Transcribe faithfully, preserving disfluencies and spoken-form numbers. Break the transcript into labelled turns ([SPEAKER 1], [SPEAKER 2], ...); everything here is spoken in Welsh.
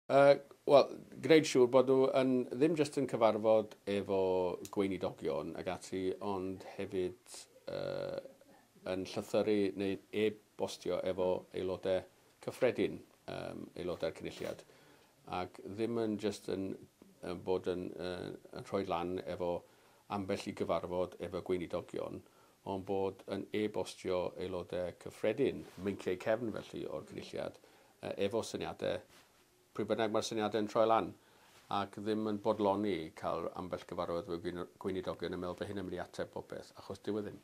[SPEAKER 1] Uh, Wel, gwneud siŵr bod nhw yn, ddim jyst yn cyfarfod efo gweinidogion ag ati, ond hefyd uh, yn llythyru neu e-bostio efo aelodau cyffredin, um, aelodau'r Cynulliad. Ac ddim yn jyst yn, yn bod yn, uh, yn rhoi lan efo ambell i gyfarfod efo gweinidogion, ond bod yn e-bostio aelodau cyffredin, meinciau cefn felly o'r Cynulliad, uh, efo syniadau pryd bynnag mae'r syniadau'n troi lan ac ddim yn bodloni cael ambell gyfarfod efo gweinidogion yn meddwl bod hyn yn mynd i ateb popeth, achos dyw e ddim.